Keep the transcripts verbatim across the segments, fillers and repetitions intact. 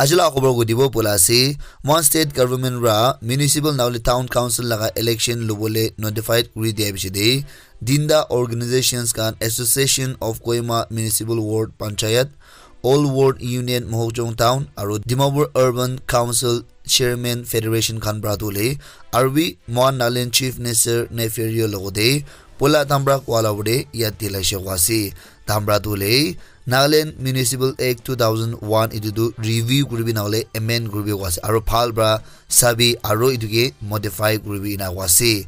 Aji laga khobor kutibo pola ase, moikhan state government para municipal nahole town council laga election lobole notified kuri dia piche te, tinta organizations khan, Association of Kohima Municipal Ward Panchayat, All Ward Union Mohokchung Town, aru Dimapur Urban Council Chairman Federation khan para tu le, aru bi moikhan Nagaland Chief Minister Neiphiu Rio logote poila tahan para koa la opor te yad dilaise koa ase. Tahan para tu le, Nagaland Municipal Act two thousand one etu tu review kuribi nahole amend kuribi koa ase. Aru bhal para sabi aru etu ke modify kuribi ena koa ase.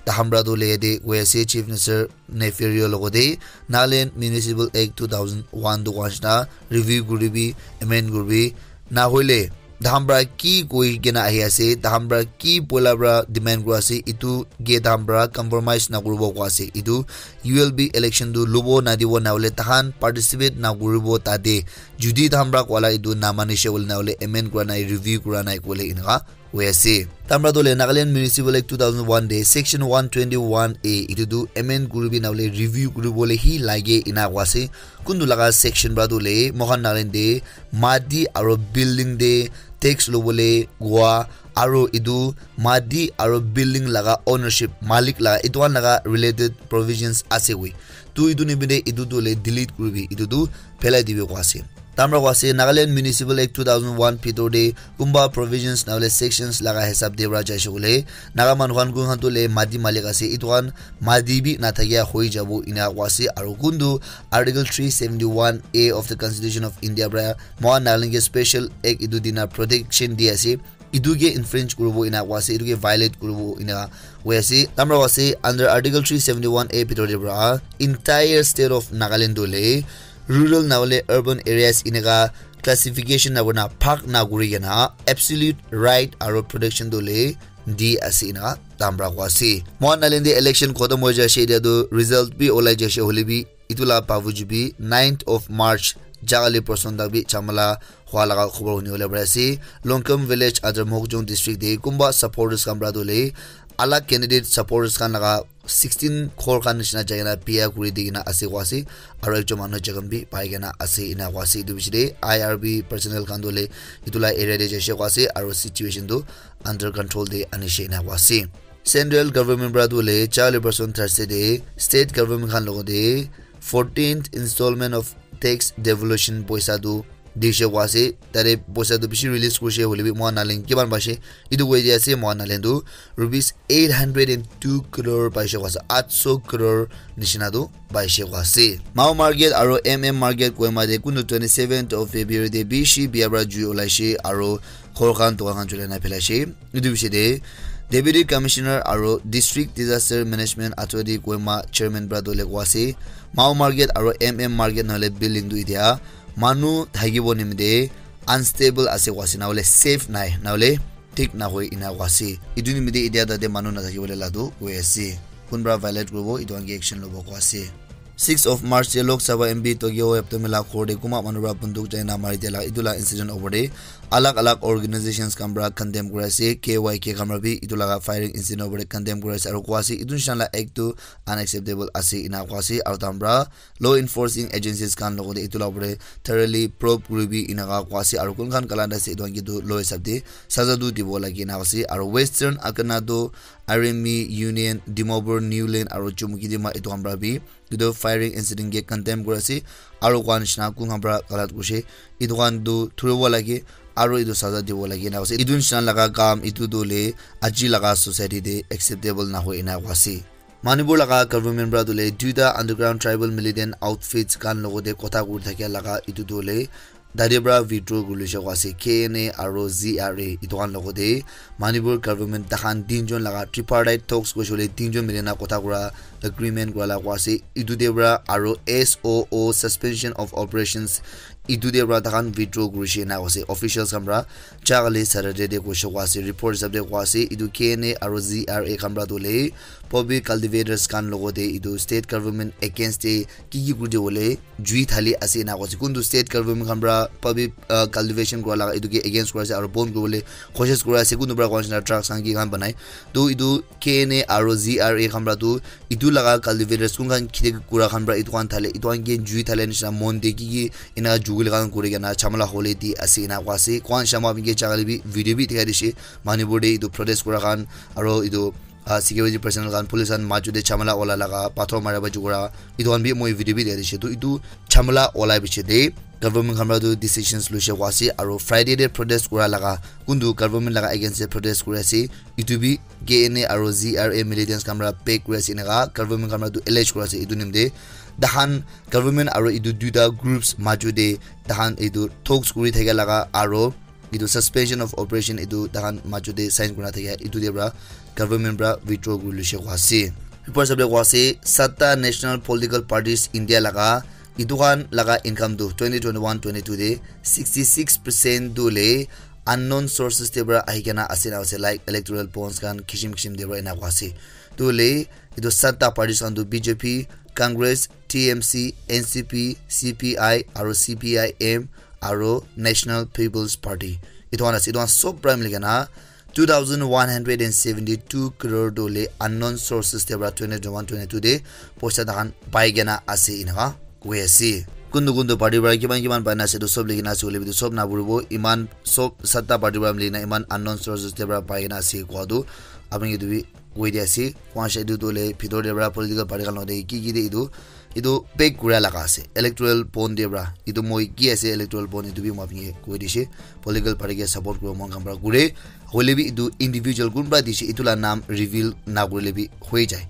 Tahan para tu le yate koi ase Chief Minister Neiphiu Rio logote Nagaland Municipal Act two thousand one tu koa nishina review kuribi, amend kuribi, nahole tahan para ki koi kena ahi ase, tahan para ki poila para demand kura ase, etu ke tahan para compromise nakuribo koa ase. Etu U L B election tu lobo nadibo nahole tahan participate nakuribo tate. Judi tahan para koa la etu namanishe koile nahole amend kura nai, review kura nai koile eneka hoi ase. Tahan para tu le Nagaland Municipal Act two thousand one te section one twenty-one A etu tu amend kuribi nahole review kuribole hi lage ena koa ase. Kuntu laga section para tu le moikhan Nagaland te mati aro building te tax lobole koa aro etu mati aro building laga ownership, malik laga, etu khan laga related provisions ase koi. Tu etu nimite etu tu le delete kuribi, etu tu phelai dibi koa ase. Tahan para koa ase, Nagaland Municipal Act two thousand one bhitor te kunba provisions nahole sections laga hisab te para jaise koile, Naga manu khan kun khan tu le mati malik ase, etu khan mati bi nathakia hoi jabo ena koa ase. Aru kuntu Article three seventy-one A of the Constitution of India para moikhan Nagaland ke special act etu dina protection di ase, etu ke infringe kuribo ena koa ase, etu ke violate kuribo ena koi ase. Tahan para koa ase, under Article three seventy-one A bhitor te para entire state of Nagaland tu le rural nahole urban areas eneka classification na kurina bhag na kuri kena absolute right aro protection tu le di ase ena tahan para koa ase. Moikhan Nagaland te election khotom hoi jaise, etia tu result bi olai jaise, hoile bi etu la bavuj bi ninth of March jaga le person tak bi chamala hua laga khobor huni bole pari ase. Longkham village under Mohokchung district te kunba supporters khan para tu le alag candidate supporters khan laga sixteen ghor khan nishina jai kena biya kuri di kena ase koa ase, aro ekjon manu jokhom bi pai kena ase ena koa ase. Etu piche te I R B personnel khan tu le etu la area te jaise koa ase, aro situation tu under control te anishe ena koa ase. Central government para tu le charli person Thursday te state government khan logote fourteenth installment of tax devolution poisa tu dishe koa ase. Tate poisa tu bishi release kurishe hoile bi moikhan Nagaland kiman paishe, etu koi di ase, moikhan Nagaland tu rupees eight hundred and two crore paishe koa ase, aat so crore nishina tu paishe koa ase. Mao market aro M M market Kohima te kuntu twenty seventh of February te bishi biya para jui olaishe aro ghor khan dukan khan julai na phelaishe. Etu piche te Deputy Commissioner aro District Disaster Management Authority Kohima Chairman para tu le koa ase, Mao market aro M M market nahole building tu etia manu thakibo nimite unstable ase koa ase, nahole safe nai, nahole thik nahoi ena koa ase. Etu nimite etia tate manu nathakibo le la tu koi ase. Kun para violate kuribo, etu khan ke action lobo koa ase. Six of March te Lok Sabha M P Tokyo Heptome la ghor te kunba manu para bunduk jai na mari dia la etu la incident opor te alag alag organizations khan para condemn kuri ase. K Y K khan para bi etu laga firing incident opor te condemn kuri ase aro koa ase etu nishina la act tu unacceptable ase ena koa ase. Aro tahan para law enforcing agencies khan logote etu la opor te thoroughly probe kuribi eneka koa ase, aro kun khan galat ase etu khan ke tu law hisab te saza tu dibo lage ena ase. Aro Western Akanado, Arimi Union, Dimapur New Line aro Chumukedima etu khan para bi etu firing incident ke condemn kuri ase, aro koa nishina kun khan para galat kurishe etu khan tu thuribo lage, aro etu saza dibo lage ena ase. Etu nishina laga kam etu tu le aji laga society te acceptable nahoi ena koa ase. Manipur laga government para tu le duita underground tribal militant outfits khan logote kotha kuri thakia laga etu tu le tate para withdraw kuri lise koa ase. K N A aro Z R A etu khan logote Manipur government tahan tinjon laga tripartite talks koise koile tinjon mili na kotha kura agreement kura la koa ase. Etu te para aro S O O, suspension of operations, etu te para tahan withdraw kurishe ena koa ase. Officials khan para ja kali Saturday te koise koa ase, report hisab te koa ase. Etu K N A aro Z R A khan para tu le public cultivators khan logote etu state government against te ki ki kuri dibo le jui thali ase ena koa ase. Kuntu state government khan para public, uh, cultivation kura laga etu ke against kura ase aro bon kuribole koshish kura ase. Kuntu para koa nishina drugs khan ki khan banai. To etu K N A aro Z R A khan para tu etu laga cultivators kun khan kheti kura khan para etu khan thale, etu khan ke jui thale nishina mon te ki ki ena Google khan kuri kena chamala hole di ase ena koa ase. Kwan shama binge chakali bi video bi dikhai dishe. Manipur de itu protest kura khan aro itu ah, security personnel khan, police khan maju te chamala ola laga, pathor mara ba jukura, itu khan bi moi video bi dikhai dishe. Tu itu chamala olai biche te government khan para tu decisions luishe koa ase, aro Friday te protest kura laga, kuntu government laga against te protest kuri ase, itu bi K N A aro Z R A militants khan para pay kuri ase, enaka government khan para tu allege kuri ase. Itu nimite tahan government aro itu duita groups maju te tahan itu talks kuri thakia laga aro itu suspension of operation itu tahan maju te sign kurina thakia itu te para government para withdraw kuri luishe koa ase. Report sabole koa ase, satta national political parties India laga itu khan laga income tu twenty twenty-one twenty-two te sixty-six percent tu le unknown sources te para ahi kena ase na ase, like electoral bonds khan kishim kishim te para ena koa ase. Tu le itu satta parties khan tu B J P, Congress, T M C, N C P, C P I aro C P I M aro National People's Party. Itu khan ase, itu khan sob para mili kena two thousand one hundred and seventy-two crore tu le unknown sources te para twenty twenty-one twenty-two te poisa tahan pai kena ase enaka koi ase. Kuntu kuntu party para kiman kiman pai na ase tu sob likhi na ase hoile bi tu sob na puribo, iman sob satta party para mili na iman unknown sources te para pai kena ase koa tu apni etu bi koi di ase. Kwan sha etu tu le bhitor te para political party khan lode ki ki de etu etu pay kura laga ase, electoral bond te para. Etu moi ki ase electoral bond, etu bi moi apni ke koi dishe. Political party ke support kura mon khan para kure. Hoile bi etu individual kunba dishe, etu la naam reveal na kurile bi hoi jai.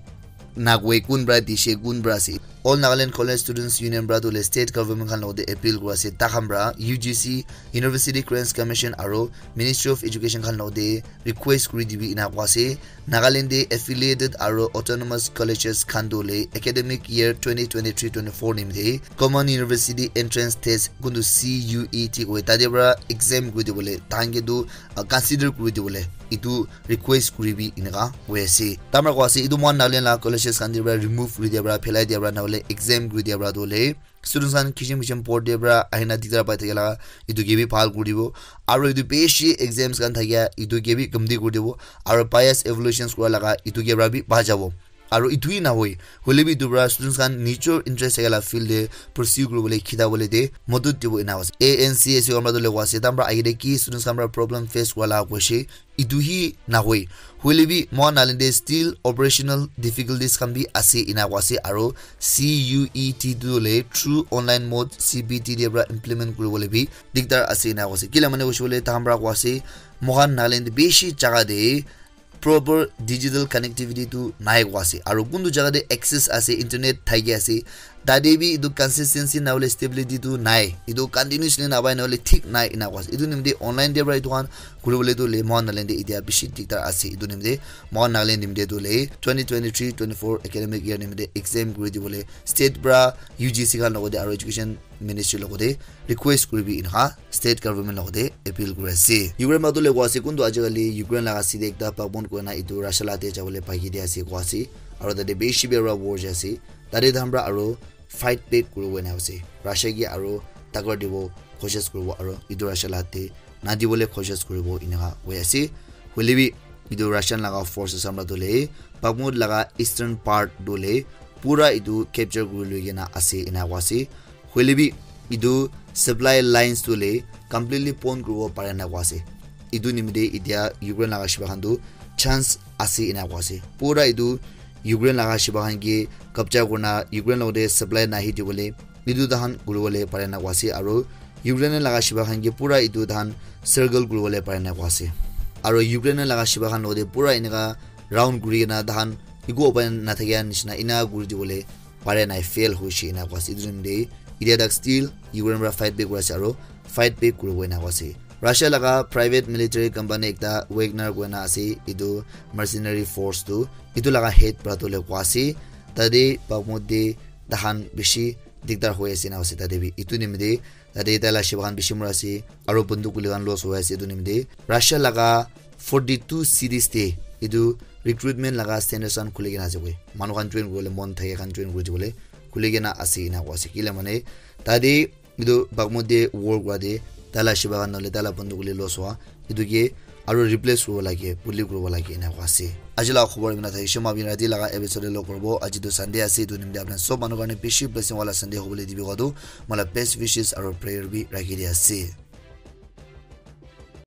Na koi kunba dishe, kunba ase. All Nagaland College Students Union para tu le state government khan lode appeal kura ase. Ta khan para U G C, University Grants Commission aro Ministry of Education khan lode request kuri dibi ena koa ase. Nagaland te affiliated aro autonomous colleges khan tu le academic year twenty twenty-three twenty-four nimite common university entrance test kuntu C U E T koi tate para exam kuri dibole tahan ke tu, ah, consider kuri dibole itu request kuri bi enaka koi ase. Tamra koa ase itu mohan Nagaland la colleges khan te para remove kuri dia para, phelai dia para, nahole exam kuri dia para tu le students khan kishim kishim port te para ahina diktar pai thakila itu ke bi bhal kuri dibo. Aro itu bishi exams khan thakia itu ke bi kamti kuri dibo. Aro bias evaluations kura laga itu ke para bi bhal jabo. Aro itu hi nahoi, hoile bi itu para students khan nijor interest thakila field te pursue kuribole khita bole te modot dibo ena ase. A N C S U khan para tu le koa ase, tamra agite ki students khan para problem face kura laga koishe, itu hi nahoi. Hoile bi mohan Nagaland te still operational difficulties khan bi ase ena koa ase, aro C U E T tu le through online mode C B T te para implement kuribole bi diktar ase ena koa ase. Kila mane koishe bole tahan para koa ase, mohan Nagaland te bishi jaga te proper digital connectivity tu nai koa ase, aro kuntu jaga te access ase, internet thaki ase, tate bi etu consistency nahole stability tu nai, etu continuously napai nahole thik nai ena koa ase. Etu nimite online te para etu khan kuribole tu le mohan Nagaland te etia bishi diktar ase. Etu nimite mohan Nagaland nimite tu le twenty twenty-three twenty-four academic year nimite exam kuri dibole state para U G C khan logote aro education ministry logote request kuribi enaka state government logote appeal kuri ase. Ukraine matu le koa ase kuntu ajikali Ukraine laga city ekta Bakhmut koina etu Russia la te jabole bhagi de ase koa ase, aro tate bishi bera war jai ase. Tate tahan para aro fight back kuribo ena ase. Russia ke aro takat dibo koshish kuribo aro etu Russia la te na dibole koshish kuribo enaka koi ase. Hoile bi etu Russian laga forces khan para tu le Bakhmut laga eastern part tu le pura etu capture kuri loi kena ase ena koa ase. Hoile bi etu supply lines tu le completely pon kuribo pare na koa ase. Etu nimite etia Ukraine laga shiba khan tu chance ase ena koa ase. Pura etu Ukraine laga shiba khan ke kabja kurina Ukraine logote supply nahi dibole etu tahan kuribole pare na koa ase, aro Ukraine laga shiba khan ke pura etu tahan circle kuribole pare na koa ase, aro Ukraine laga shiba khan logote pura eneka round kuri kena tahan eku upai nathakia nishina ena kuri dibole pare nai, fail hoishe ena koa ase. Etu time te etia tak still Ukraine para fight back kuri ase aro fight back kuribo ena koa ase. Russia laga private military company ekta Wagner koina ase, etu mercenary force tu etu laga head para tu le koa ase, tate Bakhmut te tahan bishi diktar hoi ase na ase tate bi. Etu nimite tate tai la shiba khan bishi mura ase, aro bunduk guli khan loss hoi ase. Etu nimite Russia laga forty-two cities te etu recruitment laga centers khan khuli kena ase koi. Manu khan join kuribole mon thake khan join kuri dibole khuli kena ase ena koa ase. Kile mane tate etu Bakhmut te war kura te tai la shiba khan nahole tai la banduk hoile loss howa, etu ke aru replace kuribo lage, buli kuribo lage ena koa ase. Aji la khobor imina thakishe, moi apni rati laga episode te log kuribo. Aji tu Sunday ase, etu nimite apni sob manu karne bishi blessing wala Sunday hobole dibi koa tu moi la best wishes aru prayer bi rakhi di ase.